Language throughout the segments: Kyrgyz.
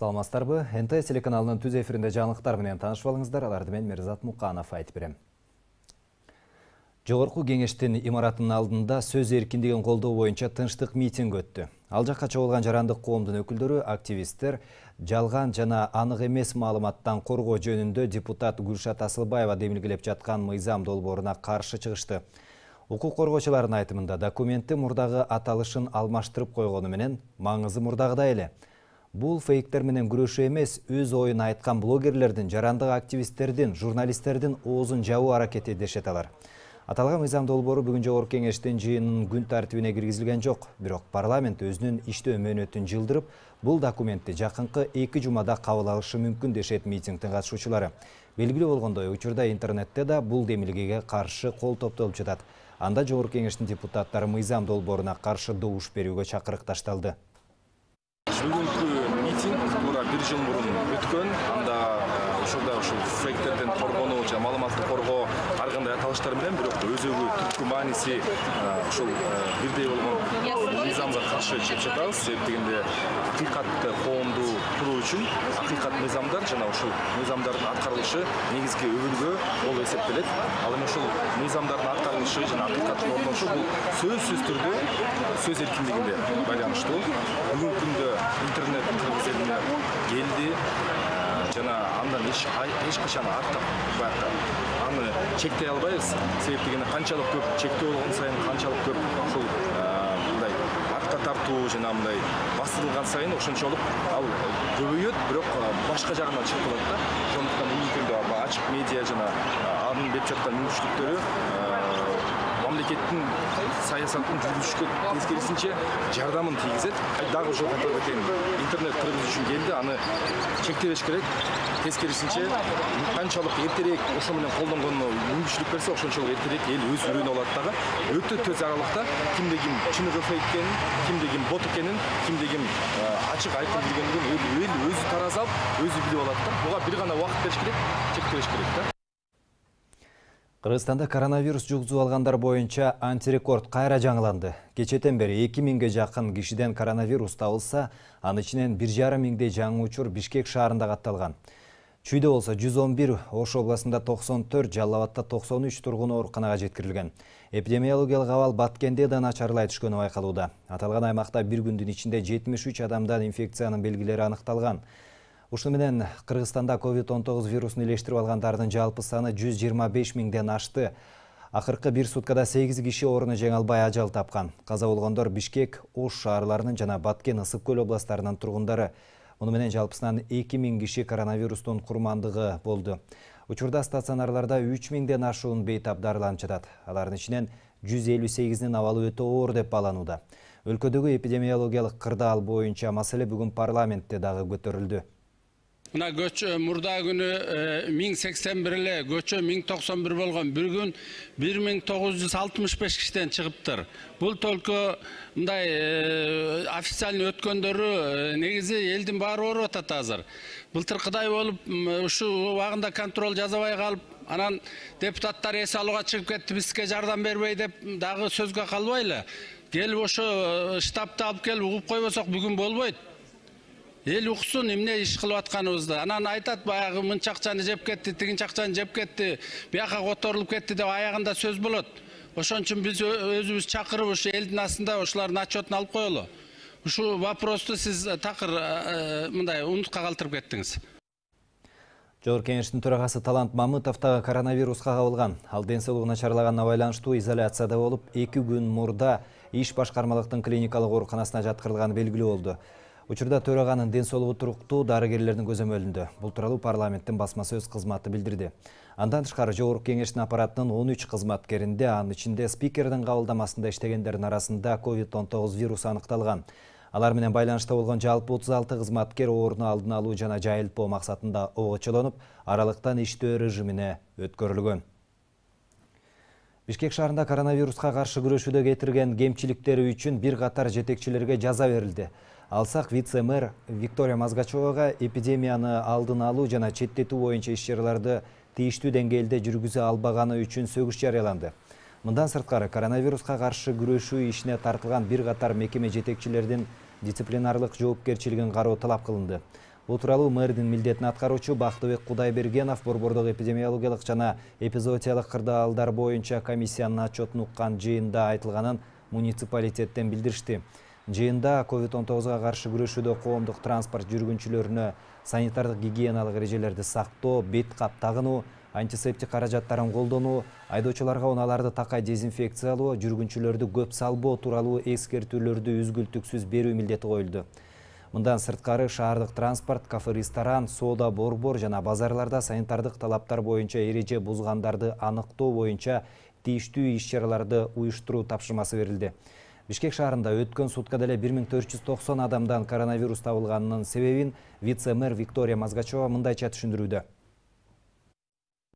Саламатсыздарбы? НТ телеканалынын түз эфиринде жаңылыктар менен таанышып алыңыздар. Аларды мен Мирзат Муканов айтып берем. Жогорку кеңештин имаратынын алдында сөз эркиндигин колдоо боюнча тынчтык митинг өттү. Ал жакка чогулган жарандык коомдун өкүлдөрү, активисттер жалган жана анык эмес маалыматтан коргоо жөнүндө депутат Гүлшат Асылбаева демилгелеп жаткан мыйзам долбооруна каршы чыгышты. Укук коргоочулардын айтымында документти мурдагы аталышын алмаштырып койгону менен маңызы мурдагыдай эле. Бул фейктер менен күрөшүү эмес, өз оюн айткан блогерлердин, жарандык активисттердин, журналисттердин оозун жабуу аракети дешет алар. Аталган мыйзам долбоору бүгүн жогорку кеңештин жыйынынын күн тартибине киргизилген жок. Бирок парламент өзүнүн иштөө мөөнөтүн жылдырып, бул документти жакынкы 2 жумада кабыл алышы мүмкүн дешет митингдин катышуучулары. Белгилүү болгондой, учурда интернетте да бул демилгеге каршы кол топтолуп жатат. Анда жогорку кеңештин депутаттары мыйзам долбооруна каршы добуш берүүгө чакырыкташталды. Бүгүнкү митинг туура 1 жыл мурун өткөн. Анда ошолда ушул фейктерден коргонуу жана маалыматты коргоо ар кандай аталыштар менен, бирок өзөгү түпкү мааниси ушул бирдей болгон мыйзамга каршы чыгып жатабыз. Себеп дегенде акыйкатты коомду куруу үчүн акыйкат мыйзамдар жана ушул мыйзамдардын аткарылышы негизги өбөлгө болуп эсептелет. Ал эми ушул мыйзамдардын аткарылышы жана акыйкаттын орношу бул сөзсүз түрдө сөз эркиндигине байланыштуу. Бүгүнкү күндө интернет кыргыз элине келди жана андан эч качан артык аны чектей албайбыз. Себеп дегенде канчалык көп чектөө болгон сайын, канчалык көп ушул мындай артка тартуу жана мындай басылган сайын ошончолук ал көбөйөт, бирок башка жагынан чыгып калат да. Ошондуктан бүгүнкү күндө ачык медиа жана анын берип жаткан мүмкүнчүлүктөрү мамлекеттин саясатын жүргүзүшкө тескерисинче жардамын тийгизет. Дагы ошол катары интернет кыргыз үчүн келди, аны чектебеш керек. Тескерисинче канчалык эртерээк ошо менен колдонгонуна мүмкүнчүлүк берсе, ошончолук эртерээк эл өз үрүнө алат дагы. Өтө төз аралыкта кимде ким чыныгы фейк экенин, кимде ким бот экенин, кимде ким ачык айкын билгендигин эл өзү таразап, өзү билип алат да. Буга бир гана убакыт бериш керек, чектебеш керек да. Кыргызстанда коронавирус жугузуп алгандар боюнча антирекорд кайра жаңыланды. Кечетен бери 2000ге жакын кишиден коронавирус табылса, анын ичинен 1,5 миңдей жаңы учур Бишкек шаарында катталган. Чүйдө болсо 111, Ош областында 94, Жалал Абадта 93 тургун ооруканага жеткирилген. Эпидемиологиялык абал Баткенде да начарлай түшкөнү байкалууда. Аталган аймакта бир күндүн ичинде 73 адамдан инфекциянын белгилери аныкталган. Ушуну менен Кыргызстанда COVID-19 вирусун илештирип алгандардын жалпы саны 125 миңден ашты. Акыркы бир суткада 8 киши ооруну жеңе албай ажал тапкан. Каза болгондор Бишкек, Ош шаарларынын жана Баткен, Ысык көл областтарынын тургундары. Муну менен жалпысынан 2000 киши коронавирустун курмандыгы болду. Учурда стационарларда 3000ден ашуун бейтап дарыланып жатат. Алардын ичинен 158-нин абалы өтө оор деп бааланууда. Өлкөдөгү эпидемиологиялык кырдаал боюнча маселе бүгүн парламентте дагы көтөрүлдү. Мына көчө мурда күнү 1081 эле, көчө 1091 болгон. Bir күн 1965 кишиден чыгыптыр. Бул только мындай официально өткөндөрү негизи элдин баары ооруп атат азыр. Былтыркыдай болуп, ушу убагында контроль жасабай калып, анан депутаттар эс алууга чыгып кетти, бизге жардам бербей деп дагы сөзгө калбайлы. Келип ошо штабты алып келип угуп койбосок бүгүн болбойт. Эл уксун эмне иш кылып атканыбызды. Анан айтат, баягы мынча акчаны жеп кетти, тигинчи акчаны жеп кетти, бияка которулуп кетти деп аягында сөз болот. Ошон үчүн биз өзүбүз чакырып ушу элдин астында ошолардын отчетун алып коелу. Ушу вопросту сиз такыр мындай унутка калтырып кеттиңиз. Жогорку кеңештин төрагасы Талант Мамытов дагы коронавируска кабылган. Ал ден соолугу начарлаганына байланыштуу изоляцияда болуп, 2 күн мурда иш башкармалыктын клиникалык ооруканасына жаткырылганы белгилүү болду. Учурда төраганын ден соолугу туруктуу, дарыгерлердин көзөмөлүндө. Бул тууралуу парламенттин басма сөз кызматы билдирди. Андан тышкары жогорку кеңештин аппаратынын 13 кызматкеринде, анын ичинде спикердин кабылдамасында иштегендердин арасында COVID-19 вирусу аныкталган. Алар менен байланышта болгон жалпы 36 кызматкер ооруну алдын алуу жана жайылтпоо максатында огочолонуп, аралыктан иштөө режимине өткөрүлгөн. Бишкек шаарында коронавируска каршы күрөшүүдө кетирген кемчиликтери үчүн бир катар жетекчилерге жаза берилди. Алсак вице-мэр Виктория Мазгачевага эпидемияны алдын алуу жана четтетүү боюнча иш-чараларды тийиштүү деңгээлде жүргүзө албаганы үчүн сөгүш жарыяланды. Мындан сырткары коронавируска каршы күрөшүү ишине тартылган бир катар мекеме жетекчилердин дисциплинарлык жоопкерчилигин кароо талап кылынды. Бул тууралуу мэрдин милдетин аткаруучу Бактыбек Кудайбергенов Борбордук эпидемиологиялык жана эпизоотиялык кырдаалдар боюнча комиссиянын отчетун уккан жыйында айтылганын муниципалитеттен билдиришти. Жыйында COVID-19 каршы күрөшүүдө коомдук транспорт жүргүнчүлөрүнө санитардык гигиеналык эрежелерди сактоо, бет кап тагынуу, антисептик каражаттарын колдонуу, айдоочуларга унааларды такай дезинфекциялоо, жүргүнчүлөрдү көп салбоо тууралуу эскертүүлөрдү үзгүлтүксүз берүү милдети коюлду. Мындан сырткары шаардык транспорт, кафе, ресторан, соода, борбор жана базарларда санитардык талаптар боюнча эреже бузгандарды аныктоо боюнча тийиштүү иш-чараларды уюштуруу тапшырмасы берилди. Бишкек шаарында өткөн суткада эле 1490 адамдан коронавирус табылганынын себебин вице-мэр Виктория Мазгачева мындайча түшүндүрүүдө.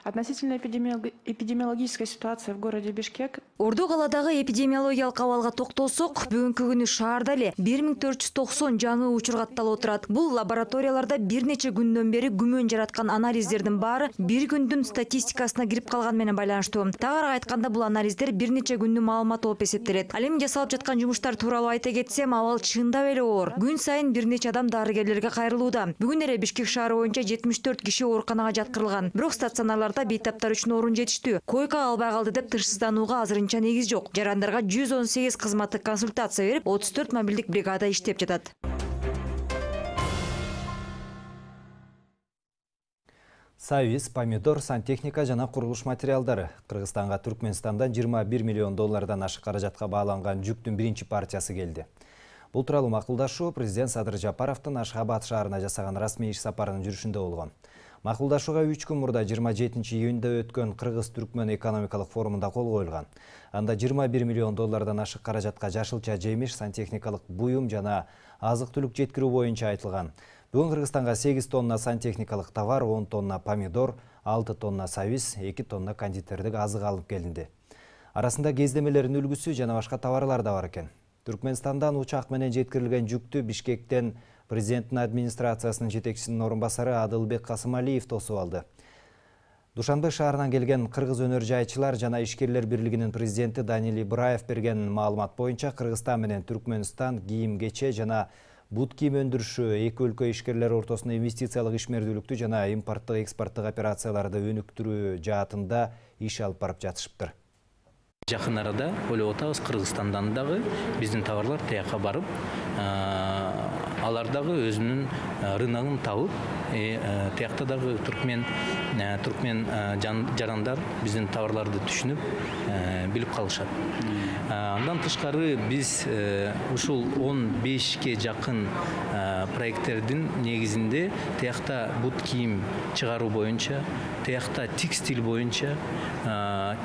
Относительно эпидемиологической ситуации в городе Бишкек. Орду каладагы эпидемиологиялык абалга токтолсок, бүгүнкү күнү шаарда эле 1490 жаңы учур катталып отурат. Бул лабораторияларда бир нече күндөн бери күмөн жараткан анализдердин баары бир күндүн статистикасына кирип калган менен байланыштуу. Тагыраак айтканда, бул анализдер бир нече күндүн маалыматы болуп эсептелет. Ал эми жасалып жаткан жумуштар тууралуу айта кетсем, абал чындап эле оор. Күн сайын бир нече адам дарыгерлерге кайрылууда. Бүгүн эле Бишкек шаары боюнча 74 киши ооруканага жаткырылган. Бирок стационарлар бейтаптар үчүн орун жетиштүү. Койка албай калды деп тынчсызданууга азырынча негиз жок. Жарандарга 118 кызматтык консультация берип, 34 мобилдик бригада иштеп жатат. Сабиз, помидор, сантехника жана курулуш материалдары. Кыргызстанга Түркмөнстандан 21 миллион доллардан ашык каражатка бааланган жүктүн биринчи партиясы келди. Бул тууралуу макулдашуу президент Садыр Жапаровдун Ашхабад шаарына жасаган расмий иш сапарынын жүрүшүндө болгон. Макулдашууга 3 күн мурда 27-июнда өткөн Кыргыз-Түркмөн экономикалык форумунда кол коюлган. Анда 21 миллион доллардан ашык каражатка жашылча жемиш, сантехникалык буюм жана азык-түлүк жеткирүү боюнча айтылган. Бүгүн Кыргызстанга 8 тонна сантехникалык товар, 10 тонна помидор, 6 тонна сабиз, 2 тонна кондитердик азык алып келинди. Арасында кездемелердин үлгүсү жана башка товарлар да бар экен. Түркмөнстандан учак менен жеткирилген жүктү Бишкектен президенттин администрациясынын жетекчисинин орун басары Адылбек Касымалиев тосуп алды. Душанбе шаарынан келген кыргыз өнөр жайчылар жана ишкерлер бирлигинин президенти Данил Ибраев берген маалымат боюнча Кыргызстан менен Түркмөнстан кийим-кече жана бут кийим өндүрүшү эки өлкө ишкерлери ортосунда инвестициялык ишмердүүлүктү жана импорттук экспорттук операцияларды өнүктүрүү жаатында иш алып барып жатышыптыр. Жакын арада ойлоп атабыз, Кыргызстандан дагы биздин товарлар тияка барып, алар дагы өзүнүн рыногун табып, тиякта дагы түркмен жарандар биздин товарларды түшүнүп, билип калышат. Андан тышкары биз ушул 15ке жакын проекттердин негизинде тиякта бут кийим чыгаруу боюнча, тиякта текстиль боюнча,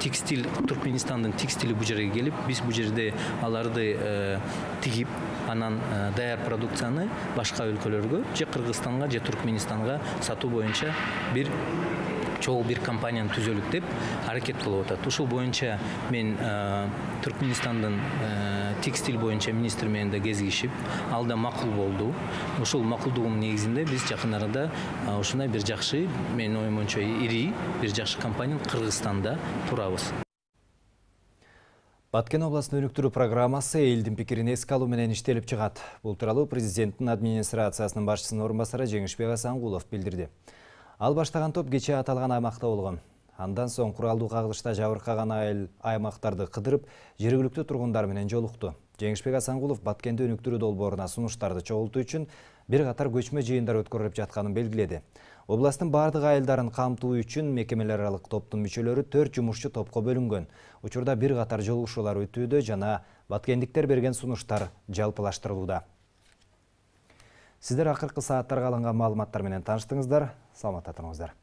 текстиль Түркменстандын текстили бу жерге келип, биз бу жерде аларды тигип, анан даяр продукцияны башка өлкөлөргө, же Кыргызстанга, же Түркменистанга сатуу боюнча бир чогуу бир компанияны түзөлүк деп аракет кылып атат. Ушул боюнча мен Түркменстандын текстиль боюнча министр менен да кезигишип, ал да макул болду. Ушул макулдугунун негизинде биз жакын арада ушундай бир жакшы, менин оюм боюнча ири бир жакшы компания Кыргызстанда турабыз. Баткен областын өнүктүрүү программасы элдин пикирин эске алуу менен иштелип чыгат. Бул тууралуу президенттин администрациясынын башчысынын орун басары Жеңишбек Асангулов билдирди. Ал баштаган топ кече аталган аймакта болгон. Андан соң куралдуу кагылышта жабыркаган аймактарды кыдырып, жергиликтүү тургундар менен жолукту. Жеңишбек Асангулов Баткенде өнүктүрүү долборуна сунуштарды чогултуу үчүн бир катар көчмө жыйындар өткөрүлүп жатканын белгиледи. Областтын бардык айылдарын камтуу үчүн мекемелер аралык топтун мүчөлөрү 4 жумушчу топко бөлүнгөн. Учурда бир катар жолугушуулар өтүүдө жана баткендиктер берген сунуштар жалпылаштырылууда. Сиздер акыркы сааттарга алынган маалыматтар менен тааныштыңыздар. Саламатта туруңуздар.